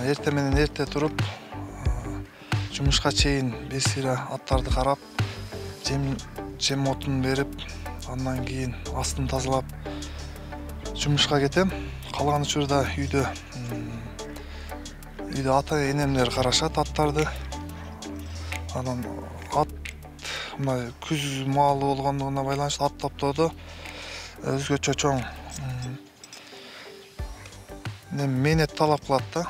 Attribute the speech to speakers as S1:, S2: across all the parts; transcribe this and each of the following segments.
S1: эрте менен эрте туруп, жумушка чейин бир сыйра аттарды карап, жем отун берип, андан кийин астын тазалап жумушка кетем. Калган учурда үйдө ата-энемдер карашат аттарды. Анан ат мына күз маалы болгондугуна байланыштуу ат топтоодо өзгөчө чоң мээнет талап кылат да.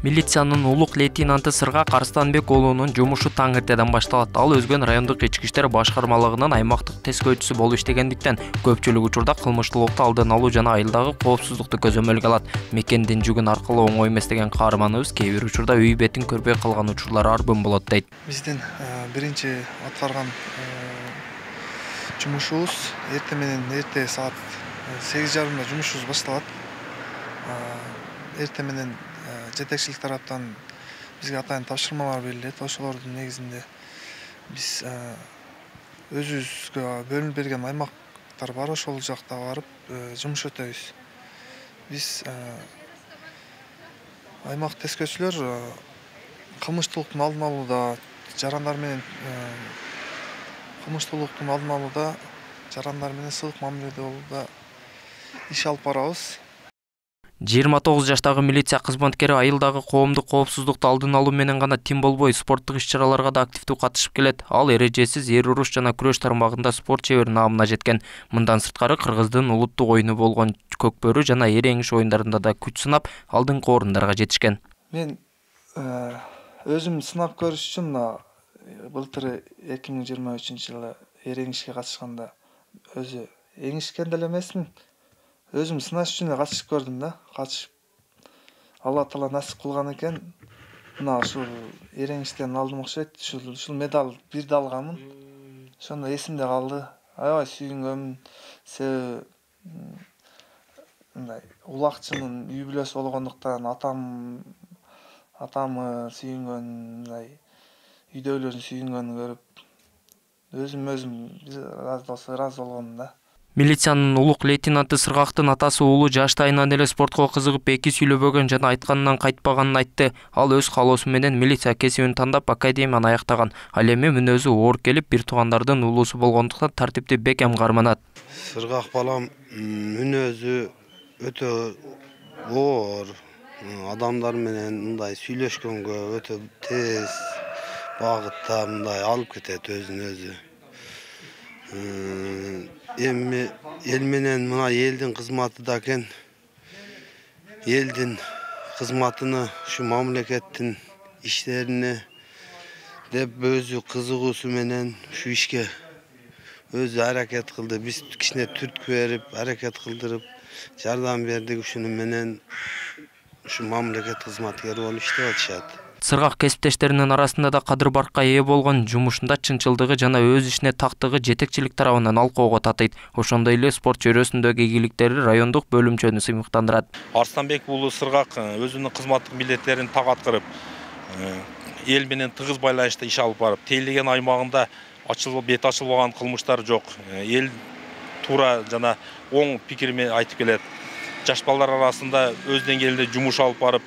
S2: Милициянын улук лейтенанты Сыргак Арстанбек уулунун жумушу таң эртеден башталат. Ал өзгөн райондук ички иштер башкармалыгынын аймактык тескөөчүсү болуп иштегендиктен көпчүлүк учурда кылмыштуулукту алдын алуу жана айылдагы коопсуздукту көзөмөлгө алат. Мекендин жүгүн аркылуу оңой эмес деген каарманыбыз кээ бир учурда үй бетин көрбөй калган учурлар арбын болот дейт.
S1: Биздин биринчи аткарган жумушубуз эрте менен эрте саат 8:30 жумушубуз башталат. Эрте менен жетекчилик тараптан бизге атайын тапшырмалар берилет. Ошолордун негизинде биз өзүбүзгө бөлүнүп берген аймактар бар, ошол жакта барып жумуш өтөбүз. Биз аймак тескөөчүлөр кылмыштуулуктун алдын алууда, жарандар менен сылык мамиледе болууда иш алып барабыз.
S2: 29 жаштагы милиция кызматкери айылдагы коомдук коопсуздукту алдын алуу менен гана тим болбой, спорттук иш-чараларга да активдүү катышып келет. Ал эрежесиз эр уруш жана күрөш тармагында спорт чебери наамына жеткен. Мындан сырткары Кыргыздын улуттук оюну болгон көкбөрү жана эреңиш оюндарында да күч сынап, алдыңкы орундарга жетишкен.
S1: Мен өзүм сынап көрүш үчүн былтыр 2023 жылы эреңишке катышканда өзү эңишкен деле эмесмин. Өзүм сынаш үчүн эле катышып көрдүм да. Катышып Алла таала насип кылган экен. Мына ушул эреңиштен алдым окшойт. Ушул медаль бирди алганмын. Ошондо эсимде калды. Аябай сүйүнгөнмүн. Себеби мындай улакчынын үй бүлөсү болгондуктан атамы сүйүнгөн, мындай үйдөгүлөрдүн сүйүнгөнүн көрүп өзүм ыраазы болгомун да.
S2: Милициянын улук лейтенанты Сыргактын атасы уулу жаштайынан эле спортко кызыгып эки сүйлөбөгөн жана айтканынан кайтпаганын айтты. Ал өз каалоосу менен милиция кесибин тандап академияны аяктаган. Ал эми мүнөзү оор келип, бир туугандардын уулусу болгондуктан тартипти бекем карманат.
S3: Сыргак балам мүнөзү өтө оор, адамдар менен мындай сүйлөшкөнгө өтө тез багытта мындай алып кетет өзүн өзү. Эми эл менен мына элдин кызматы да экен. Элдин кызматыны, ушу мамлекеттин иштерине деп өзү кызыгуусу менен ушу ишке өзү аракет кылды. Биз кичине түрткү берип, аракет кылдырып, жардам бердик. Ушуну менен ушу мамлекет кызматкери болуп иштеп атышат.
S2: Сыргак кесиптештеринин арасында да кадыр-баркка ээ болгон, жумушунда чынчылдыгы жана өз ишине тактыгы жетекчилик тарабынан алкоого татыйт. Ошондой эле спорт чөйрөсүндөгү ийгиликтери райондук бөлүмчөнү сыймыктандырат.
S4: Арстанбек уулу Сыргак өзүнүн кызматтык милдеттерин так аткарып, эл менен тыгыз байланышта иш алып барып, тейлеген аймагында бет ачылбаган кылмыштар жок. Эл туура жана оң пикирин айтып келет. Жаш балдар арасында өз деңгээлинде жумуш алып барып,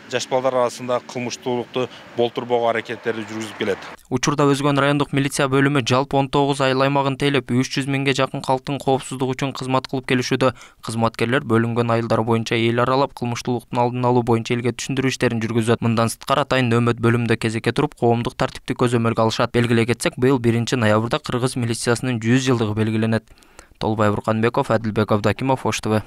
S4: жаш балдар арасында кылмыштуулукту болтурбоого аракеттерди жүргүзүп келет.
S2: Учурда Өзгөн райондук милиция бөлүмү жалпы 19 айыл аймагын тейлеп, 300 миңге жакын калктын коопсуздугу үчүн кызмат кылып келишүүдө. Кызматкерлер бөлүнгөн айылдар боюнча эл аралап, кылмыштуулуктун алдын алуу боюнча элге түшүндүрүү иштерин жүргүзөт. Мындан сырткары атайын нөөмөт бөлүмдө кезекке туруп, коомдук тартипти көзөмөлгө алышат. Белгилей кетсек, быйыл 1-ноябрда Кыргыз милициясынын 100 жылдыгы белгиленет. Толбай Бурканбеков, Адилбек Абдакимов, Ош ТВ.